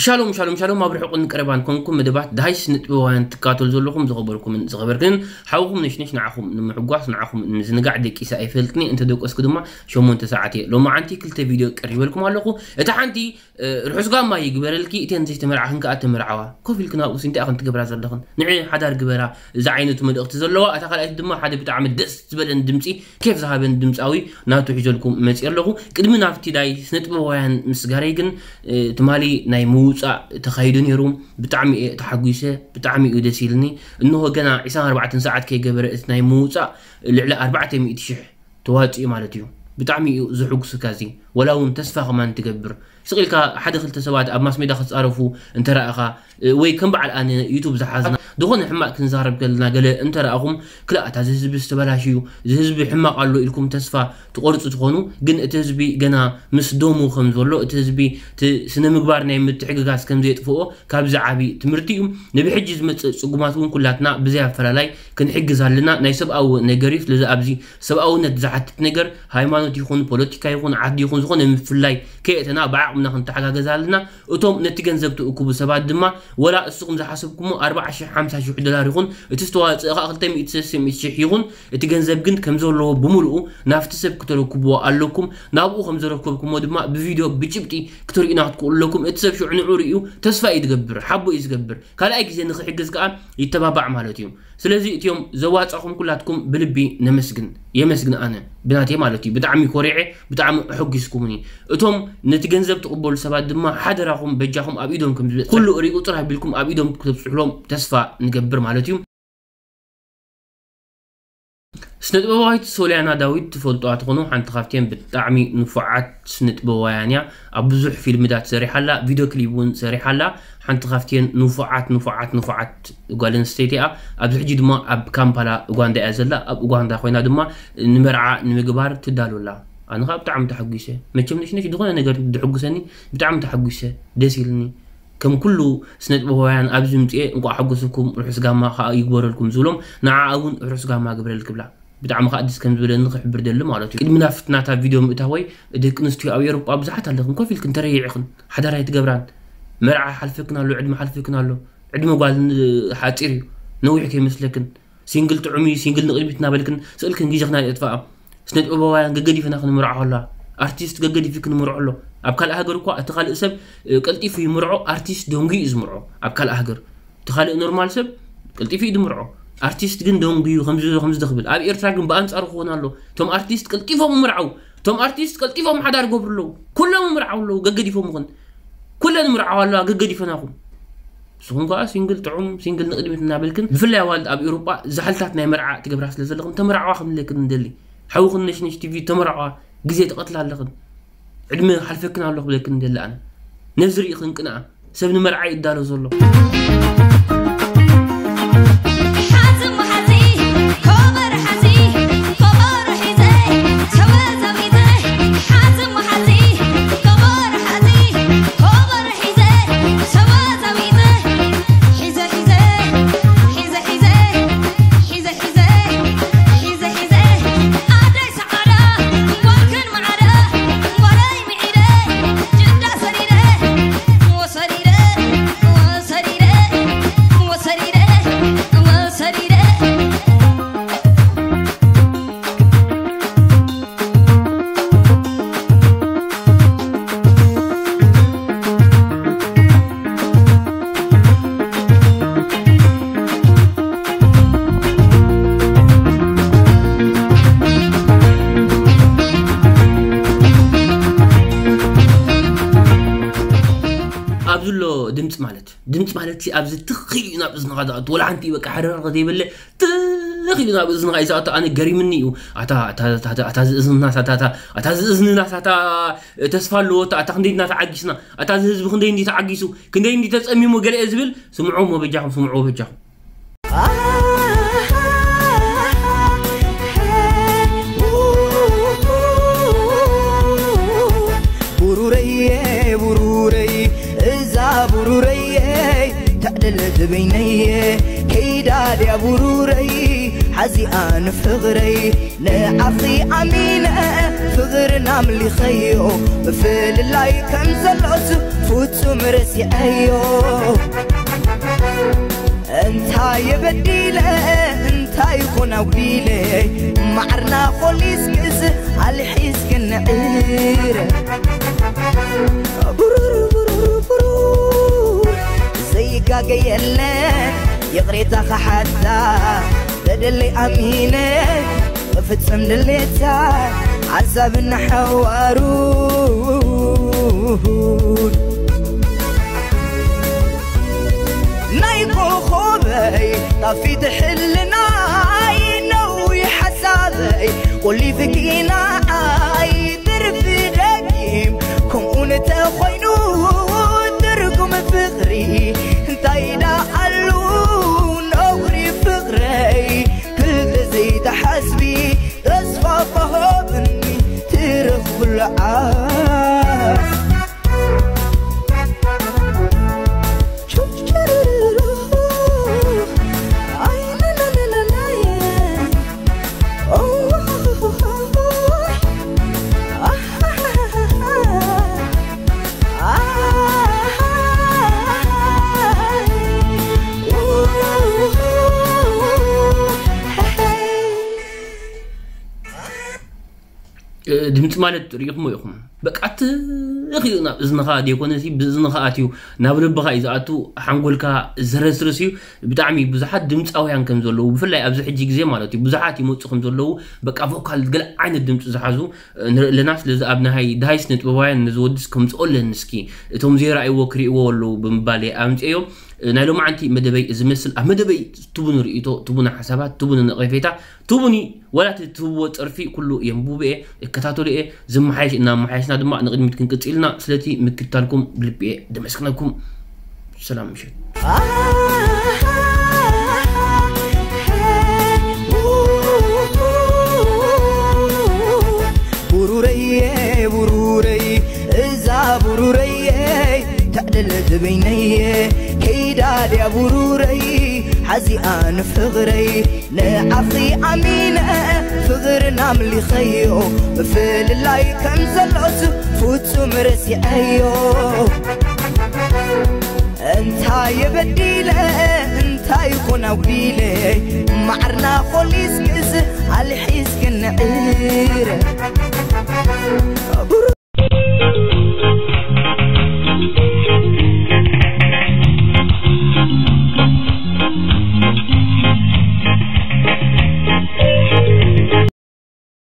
ሻሎም ሻሎም ሻሎም፣ ኣብ ርሑቕን ቀረባን ኮንኩም መደባት ዳሃይ ስነ ጥበባውያን ትካተሉ ዘለኹም ዝኸበርኩምን ዝኸበርክንን ሓውኹም ነሽነሽ፣ ንዓኹም ንምሕጓስ ንዓኹም ንምዝንጋዕ ደቂሰ ኣይፈልጥን እየ። እንተ ደቀስኩ ድማ ሸሞንተ ሰዓት እየ። ሎማዓንቲ ክልተ ቪድዮ ቀሪበልኩም ኣለኹ። እታ ሓንቲ ርሑስ ጋማ ይግበረልኪ፣ እተን ዘይተመርዓኽን ከኣ ተመርዓዋ። ኮፍ ኢልክን ኣብኡስ እንታይ ኢኽን ትገብራ ዘለኽን? ንዒ ሓዳር ግበራ። እዚ ዓይነቱ መልእኽቲ ዘለዋ። እታ ካልኣይቲ ድማ ሓደ ብጣዕሚ ደስ ዝበለን ድምጺ፣ ኬፍ ዝሃበን ድምጻዊ ናቱ ሒዘልኩም መጺእ ኣለኹ። ቅድሚ ናብቲ ናይ ስነ ጥበባውያን ምስጋረይ ግን ትማሊ ናይ ምውጻእ ተኻይዱ ነይሩ። ብጣዕሚ እየ ተሓጒሰ። ብጣዕሚ እዩ ደስ ኢልኒ። እንሆ ገና ዕስራን ኣርባዕተን ሰዓት ከይገበረ እቲ ናይ ምውጻእ ልዕሊ ኣርባዕተ ሚእቲ ሽሕ ተዋጽኡ ማለት እዩ። ብጣዕሚ እዩ ዝሕጉስካ እዚ። ወላ እውን ተስፋ ከማን ትገብር። ስቕ ኢልካ ሓደ ክልተ ሰባት ኣብ ማስ ሜዳ ክጻረፉ እንተረኣኻ፣ ወይ ከም በዓል ኣነ ዩቱብ ዝሓዝና ዝኾነ ሕማቕ ክንዛረብ ከለና ገለ እንተረኣኹም፣ ክላ እታ እዚ ህዝቢ ዝተበላሽ እዩ፣ እዚ ህዝቢ ሕማቕ ኣሎ ኢልኩም ተስፋ ትቆርጹ ትኾኑ። ግን እቲ ህዝቢ ገና ምስ ደሙ ከም ዘሎ፣ እቲ ህዝቢ እቲ ስነ ምግባር ናይ ምትሕግጋዝ ከም ዘየጥፍኦ ካብዚ ዓቢ ትምህርቲ እዩ። ንብሕጂ ዝመጽእ ጽጉማት እውን ኩላትና ብዘይ ኣፈላላይ ክንሕግዝ ኣለና። ናይ ሰብኣዊ ነገር እዩ። ስለዚ ኣብዚ ሰብኣውነት ዝሓትት ነገር ሃይማኖት ይኹን ፖለቲካ ይኹን ዓዲ ይኹን ዝኾነ ምፍላይ ከየእተና ብዓቕምና ክንተሓጋገዝ ኣለና። እቶም ነቲ ገንዘብ ትእክቡ ሰባት ድማ ወላ እስኹም ዝሓሰብኩሞ ኣርባዓ ሽሕ ሓምሳ ሽሕ ዶላር ይኹን እቲ ዝተዋፅእ ከዓ ክልተ ሚእቲ ሰለስተ ሚእቲ ሽሕ ይኹን እቲ ገንዘብ ግን ከም ዘለዎ ብምልኡ ናብቲ ሰብ ክተረክብዎ ኣለኩም። ናብኡ ከም ዘረከብኩሞ ድማ ብቪድዮ ብጭብጢ ክትርእዩና ክትክእሉ ኣለኩም። እቲ ሰብ ሽዑ ንዑ ርእዩ ተስፋ እዩ ዝገብር፣ ሓቦ እዩ ዝገብር። ካልኣይ ግዜ ንኽሕግዝ ከዓ ይተባባዕ ማለት እዩ። ስለዚ እቲኦም ዘዋጻኹም ኩላትኩም ብልቢ ነመስግን፣ የመስግን ኣነ ብናተይ ማለት እዩ። ብጣዕሚ ኮሪዐ፣ ብጣዕሚ ኣሐጒስኩምኒ። እቶም ነቲ ገንዘብ ትቕበሉ ሰባት ድማ ሓደራኹም በጃኹም ኣብ ኢዶም ከም ዝብል ኩሉ ሪኡ ጥራይ ኣቢልኩም ኣብ ኢዶም ክተብጽሑሎም ተስፋ ንገብር ማለት እዩ። ስነ ጥበባዊት ሶልያና ዳዊት ትፈልጡዋ ትኾኑ፣ ሓንቲ ካብተን ብጣዕሚ ንፉዓት ስነ ጥበባውያን እያ። ኣብ ብዙሕ ፊልምታት ሰሪሓ ኣላ፣ ቪድዮ ክሊፕ እውን ሰሪሓ ኣላ። ሓንቲ ካብተን ንፉዓት ንፉዓት ንፉዓት ጓል ኣንስተይቲ እያ። ኣብዚ ሕጂ ድማ ኣብ ካምፓላ ኡጋንዳ እያ ዘላ። ኣብ ኡጋንዳ ኮይና ድማ ንመርዓ ንምግባር ትዳሎ ኣላ። ኣነ ከዓ ብጣዕሚ ተሓጒሰ። መቸም ነሽነሽ ዝኾነ ነገር ድሕጉሰኒ ብጣዕሚ ተሓጒሰ፣ ደስ ኢልኒ። ከም ኩሉ ስነ ጥበባውያን ኣብዚ ምፅኤ እንቋዕ ሓጎሰኩም ርሑስ ጋማ ከዓ ይግበረልኩም ዝብሎም ንዓኣ እውን ርሑስ ጋማ ግብረል ክብላ። ብጣዕሚ ከዓ ደስ ከም ዝበለኒ ክሕብር ደሊ ማለት እዩ። ቅድሚ ናፍት ናታ ቪድዮ ምእታወይ፣ ደቂ ኣንስትዮ ኣብ ኤውሮጳ ብዙሓት ኣለኽን ኮፍ ኢልክን ተረይዕኽን ሓዳር ኣይትገብራን። መርዓ ሓልፈክን ኣሎ፣ ዕድመ ሓልፈክን ኣሎ። ዕድመ ጓል ሓፂር እዩ፣ ነዊሕ ከይመስለክን። ሲንግል ጥዑም እዩ፣ ሲንግል ንቕድሚት እናበልክን ስእልክን ግዜኽና የጥፍኣ። ስነ ጥበባውያን ገገዲፍና ክንምርዖ ከላ፣ ኣርቲስት ገገዲፉ ክንምርዖ ኣሎ። ኣብ ካልእ ሃገር እኳ እቲ ካልእ ሰብ ቀልጢፉ ይምርዖ፣ ኣርቲስት ደንጉዩ እዩ ዝምርዖ ኣብ ካልእ ሃገር። እቲ ካልእ ኖርማል ሰብ ቀልጢፉ እዩ ዝምርዖ። ኣርቲስት ግን ደንጉዩ ከምዚ ከምዚ ክብል። ኣብ ኤርትራ ግን ብኣንጻሩ ክኾን ኣሎ። እቶም ኣርቲስት ቀልጢፎም ይምርዓው። እቶም ኣርቲስት ቀልጢፎም ሓዳር ይገብሩ ኣለዉ። ኩሎም ይምርዓው ኣለዉ፣ ገገዲፎም ይኹን። ኩለን ይምርዓዋ ኣለዋ፣ ገገዲፈናኹም። ንስኹም ከኣ ሲንግል ጥዑም፣ ሲንግል ንቕድሚት እናበልክን፣ ብፍላይ ኣዋልድ ኣብ ኤውሮጳ ዛሕልታት ናይ መርዓ ትገብራ ስለ ዘለኽን፣ ተመርዓዋ ክንብለክን ንደሊ። ሓውኽን ነሽነሽ ቲቪ ተመርዓዋ፣ ግዜ ትቐትላ ኣለኽን። ዕድመ ሓልፈክን ኣሎ ክብለክን ንደሊ ኣነ። ነዚ ርኢኽን ቅንኣ። ሰብ ንመርዓ ይዳሎ ዘሎ። ሓዚ እሞ ሓዚ፣ ኮበር ሓዚ፣ ኮበር ሒዘ፣ ተወዛዊዘ። ሓዚ እሞ ሓዚ፣ ኮበር ሓዚ፣ ኮበር ሒዘ፣ ተወዛዊዘ። ሒዘ ሒዘ፣ ሒዘ ሒዘ፣ ሒዘ ሒዘ፣ ሒዘ ሒዘ። ኣደይ ሰዓዳ፣ ጓልክን ማዕረ፣ ጓለይ ምዒረ፣ ጅዳ ሰሪረ፣ ወሰሪረ፣ ወሰሪረ፣ ወሰሪረ፣ ወሰሪረ። ኣብዚ ኣሎ ድምፂ ማለት፣ ድምፂ ማለት ሲ ኣብዚ ትኽ ኢሉ እዩ ናብ እዝንኻ ዝኣቱ። ወላ ሓንቲ በቃ ሕርር ዘይበለ ትኽ ኢሉ ናብ እዝንኻ እዩ ዝኣቱ። ኣነ ገሪምኒ እዩ። ኣታ፣ ኣታ፣ ኣታ፣ ኣታ፣ ኣታ ዝእዝንናስ፣ ኣታ፣ ኣታ፣ ኣታ ዝእዝንናስ፣ ኣታ ተስፋ ኣለዎ፣ ኣታ፣ ኣታ ክንደይ ድና ተዓጊስና፣ ኣታ እዚ ህዝቢ ክንደይ እንዲ ተዓጊሱ፣ ክንደይ እንዲ ተጸሚሙ ገለ እየ ዝብል፣ ስምዑ እሞ በጃኹም፣ ስምዑ በጃኹም። ቡሩረየ፣ ቡሩረይ፣ እዛ ቡሩረየ፣ ተዕልል በይነየ ከይዳ ድያ ብሩረይ ሓዚኣ ንፍቕረይ ንዓኺ ኣሚነ ፍቕርና ኣምሊኸዮ ምፍልላይ ከም ዘሎስ ፍጹም ረሲዐዮ እንታይ የበዲለ እንታይ ይኾን ኣጉዲለ ማዕርና ኾሊስክስ ኣልሒስክን ዕረ ብሩር ብሩር ብሩር ዘይጋገ የለን ይቕሬታ ኸሓታ በደለይ ኣሚነ ክፍጽም ድሌታ ሓሳብና ሓዋሩ ናይ ኮኾበይ ጣፊት ሕልናይ ነዊ ሓሳበይ ቆሊፍኪ ንዓይ ትርፊ ደጊም ከምኡ እንተኾይኑ ትርጉም ፍቕሪ እንታይ ደኣሉ ነውሪ ፍቕረይ ክልተ ዘይተሓስቢ ተስፋ ባሃብኒ ትረኽብሉ ዓስ ድምፂ ማለት ርኢኹሞ ኢኹም በቃ ትኽ እዩ ናብ እዝንኻ ደይኮነሲ ብእዝንኻ ኣትዩ ናብ ልብኻ እዩ ዝኣቱ ሓንጎልካ ዘረስርስ እዩ ብጣዕሚ ብዙሓት ድምፃውያን ከም ዘለዉ ብፍላይ ኣብዚ ሕጂ ግዜ ማለት እዩ ብዙሓት ይመፁ ከም ዘለዉ በቃ ቮካል ገለ ዓይነት ድምፂ ዝሓዙ ንርኢ ኣለና ስለዚ ኣብ ናይ ድሃይስ ንጥበባውያን ነዚ ወድስ ከምፅኦ ኣለኒ እስኪ እቶም ዘይረኣይዎ ክርእይዎ ኣለዉ ብምባል ኣምፅዮ ናይ ሎማዓንቲ መደበይ ዝመስል ኣብ መደበይ ትቡኒ ርእይቶ ትቡኒ ሓሳባት ትቡኒ ነቐፌታ ትቡኒ ዋላ እቲ ትህብዎ ፀርፊ ኩሉ የንቡብኤ እከታተሉኤ ዝመሓየሽ እናመሓየሽና ድማ ንቕድሚት ክንቅፅልና ስለቲ ምክትታልኩም ብልቢኤ ደመስግነኩም ሰላም ምሸት ቡሩረየ ቡሩረይ እዛ ቡሩረየ ተዕደለት በይነየ ከይዳ ድያ ቡሩረይ ሓዚኣ ንፍቕረይ ንዓኺ ኣሚነ ፍቕርና ኣምሊኸዮ ምፍልላይ ከም ዘሎስ ፍጹም ረሲዐዮ እንታይ የበዲለ እንታይ ይኾን ኣጉዲለ ማዕርና ኾሊስክስ ኣልሒስክን ዕረ